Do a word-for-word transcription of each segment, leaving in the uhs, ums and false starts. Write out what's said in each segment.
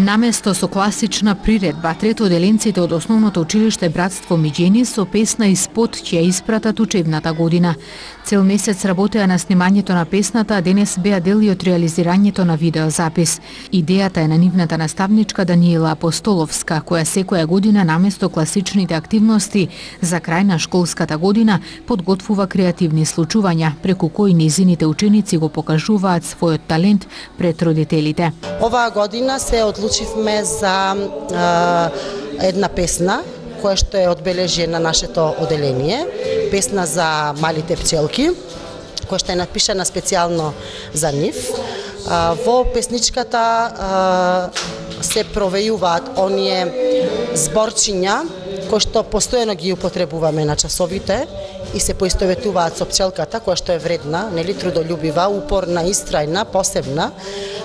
Наместо со класична приредба, третоделенците од основното училиште Братство Миѓени со песна и спот ќе ја испратат учебната година. Цел месец работеа на снимањето на песната, а денес беа дел и од реализирањето на видеозапис. Идејата е на нивната наставничка Даниела Апостоловска, која секоја година наместо класичните активности за крај на школската година подготвува креативни случувања, преку кои низините ученици го покажуваат својот талент пред родителите. Оваа година се одлучивме за е, една песна која што е одбележие на нашето оделение, песна за малите пчелки, која што е напишана специјално за нив. Во песничката се провејуваат оние зборчиња кои што постојано ги употребуваме на часовите и се поистоветуваат со пчелката, која што е вредна, нели, трудолюбива, упорна, истрајна, посебна.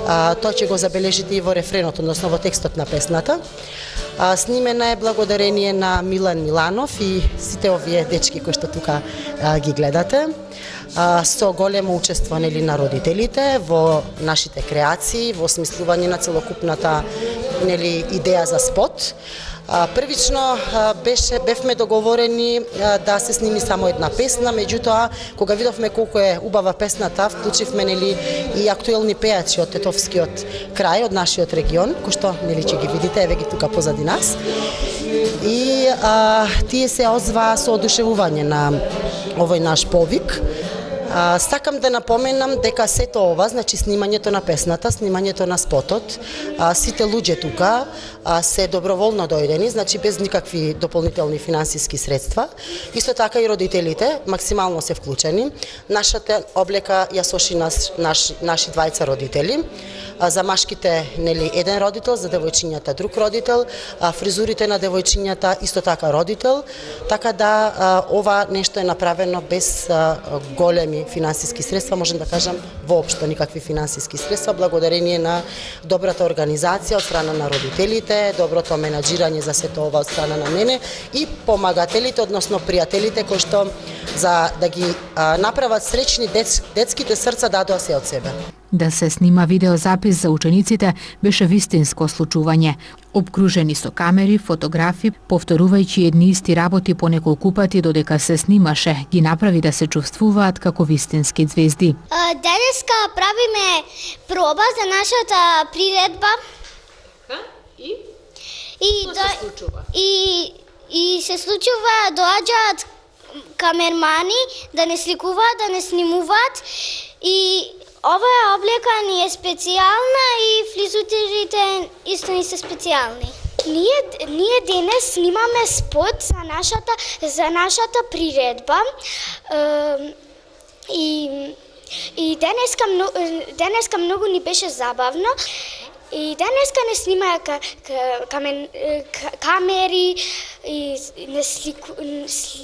А, тоа ќе го забележите и во рефренот, односно во текстот на песната. А, снимена е благодарение на Милан Миланов и сите овие дечки кои што тука а, ги гледате. А, со големо учество, нели, на родителите во нашите креации, во осмислување на целокупната, нели, идеја за спот. Првично беше бевме договорени да се сними само една песна, меѓутоа кога видовме колку е убава песната, вклучивме, нели, и актуелни пејачи од тетовскиот крај, од нашиот регион, кои што, нели, ќе ги видите, еве ги тука позади нас. И а, тие се озваа со одушевување на овој наш повик. А, сакам да напоменам дека сето ова, значи снимањето на песната, снимањето на спотот, а, сите луѓе тука а, се доброволно дојдени, значи без никакви дополнителни финансиски средства. Исто така и родителите максимално се вклучени. Нашата облека ја соши нас, наш, наши двајца родители. А, за машките, нели, еден родител, за девојчињата друг родител, а, фризурите на девојчињата исто така родител, така да а, ова нешто е направено без а, големи финансиски средства, можем да кажам воопшто никакви финансиски средства, благодарение на добрата организација од страна на родителите, доброто менаџирање за сето ова од страна на мене и помагателите, односно пријателите кои што за да ги а, направат среќни дец, детските срца дадоа се од себе. Да се снима видеозапис за учениците беше вистинско случување. Обкружени со камери, фотографи, повторувајќи едни исти работи по неколку пати додека се снимаше, ги направи да се чувствуваат како вистински звезди. Денеска правиме проба за нашата приредба. И? И Што до... се случува? И, и се случува, доаѓаат камермани да не сликуваат, да не снимуваат и оваа облека ни е специјална и фризутерите исто ни се специјални. Ние, ние денес снимаме спот за нашата, за нашата приредба е, и, и денеска, денеска многу ни беше забавно. И денеска не снимаа ка, ка, камен, ка, камери, и не слику,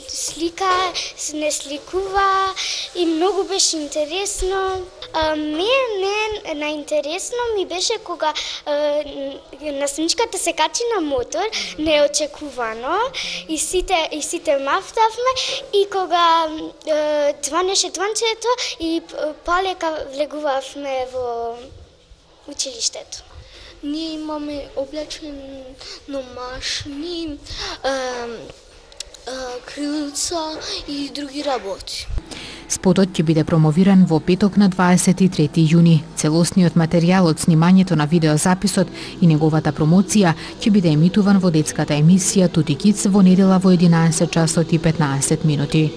слика, не сликува и многу беше интересно. А, мене наинтересно ми беше кога а, насничката се качи на мотор, неочекувано, и сите, и сите мафтавме, и кога а, звонеше звончето и полека влегувавме во училиштето. Ние имаме облечено машини, крилца и други работи. Спотот ќе биде промовиран во петок на дваесет и трети јуни. Целосниот материјал од снимањето на видеозаписот и неговата промоција ќе биде емитуван во детската емисија Тути Кидс во недела во единаесет часот и петнаесет минути.